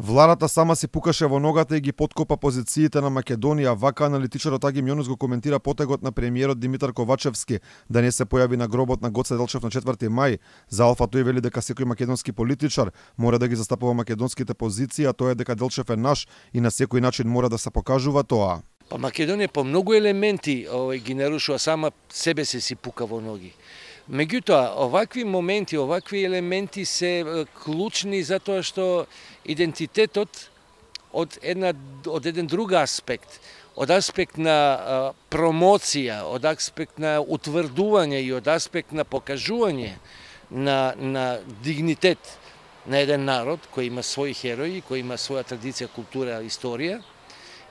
Владата сама си пукаше во ногата и ги подкопа позициите на Македонија. Вака аналитичарот Аги Мјонус го коментира потегот на премиерот Димитар Ковачевски да не се појави на гробот на Гоце Делчев на 4 мај. За Алфа тој вели дека секој македонски политичар мора да ги застапува македонските позиции, а тоа е дека Делчев е наш и на секој начин мора да се покажува тоа. Па Македонија по многу елементи ги нарушува, сама себе си пука во ноги. Меѓутоа, овакви моменти, овакви елементи се клучни затоа што идентитетот од еден друг аспект, од аспект на промоција, од аспект на утврдување и од аспект на покажување на дигнитет на еден народ кој има своји херои, кој има своја традиција, култура, историја,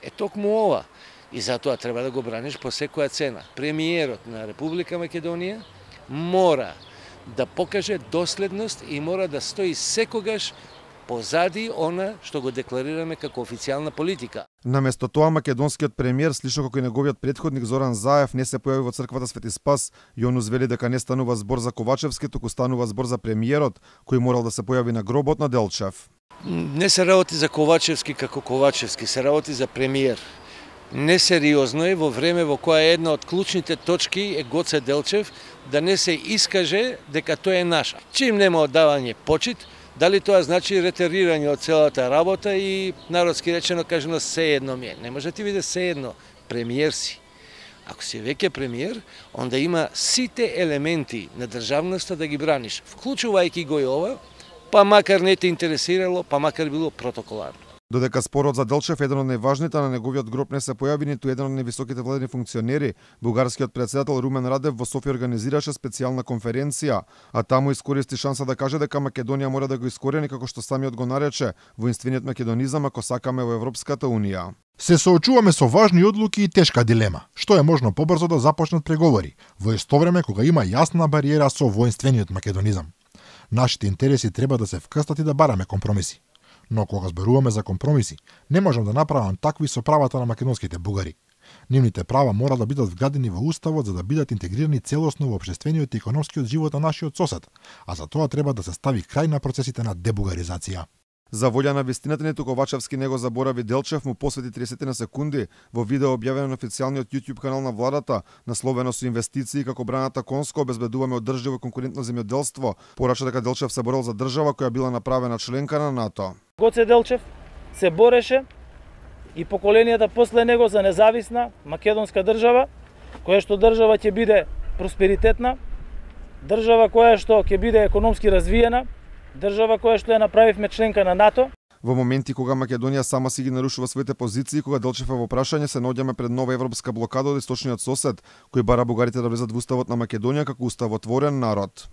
е токму ова. И затоа треба да го браниш по секоја цена. Премиерот на Република Македонија мора да покаже доследност и мора да стои секогаш позади она што го декларираме како официјална политика. Наместо тоа, македонскиот премиер, слично како и неговиот претходник Зоран Заев, не се појави во црквата Свети Спас. Јонус вели дека не станува збор за Ковачевски, туку станува збор за премиерот, кој морал да се појави на гробот на Делчев. Не се работи за Ковачевски како Ковачевски, се работи за премиер. Несериозно е во време во која една од клучните точки е Гоце Делчев да не се искаже дека тој е наш. Чим нема оддавање почит, дали тоа значи ретерирање од целата работа и народски речено кажано се едно ми е. Не може да ти биде се едно, премиер си. Ако си веќе премиер, онда има сите елементи на државноста да ги браниш, вклучувајќи го и ова, па макар не те интересирало, па макар било протоколарно. Додека спорот за Делчев еден од најважните, на неговиот гроб не се појави ниту еден од највисоките владени функционери, бугарскиот председател Румен Радев во Софија организираше специјална конференција, а таму искористи шанса да каже дека Македонија мора да го искорени, како што самиот го нарече, воинствениот македонизам ако сакаме во Европската унија. Се соочуваме со важни одлуки и тешка дилема. Што е можно побрзо да започнат преговори, во исто време кога има јасна бариера со воинствениот македонизам. Нашите интереси треба да се вкрстат и да бараме компромиси. Но кога зборуваме за компромиси, не можам да направам такви со правата на македонските бугари. Нивните права мора да бидат вградени во уставот за да бидат интегрирани целосно во општествениот и економскиот живот на нашиот сосед, а за тоа треба да се стави крај на процесите на дебугаризација. За волја на вистината, ниту Ковачевски не го заборави Делчев, му посвети 30 на секунди во видео објавено на официјалниот YouTube канал на владата, насловено со инвестиции како браната конско обезбедуваме одржливо и конкурентно земјоделство, порача дека Делчев се борел за држава која била направена членка на НАТО. Гоце Делчев се бореше и поколенијата после него за независна македонска држава, која што држава ќе биде просперитетна, држава која што ќе биде економски развиена, држава која што ја направивме членка на НАТО. Во моменти кога Македонија сама си ги нарушува своите позиции, кога Делчев е во прашање, се наоѓаме пред нова европска блокада од источниот сосед, кој бара бугарите да влезат во уставот на Македонија како уставотворен народ.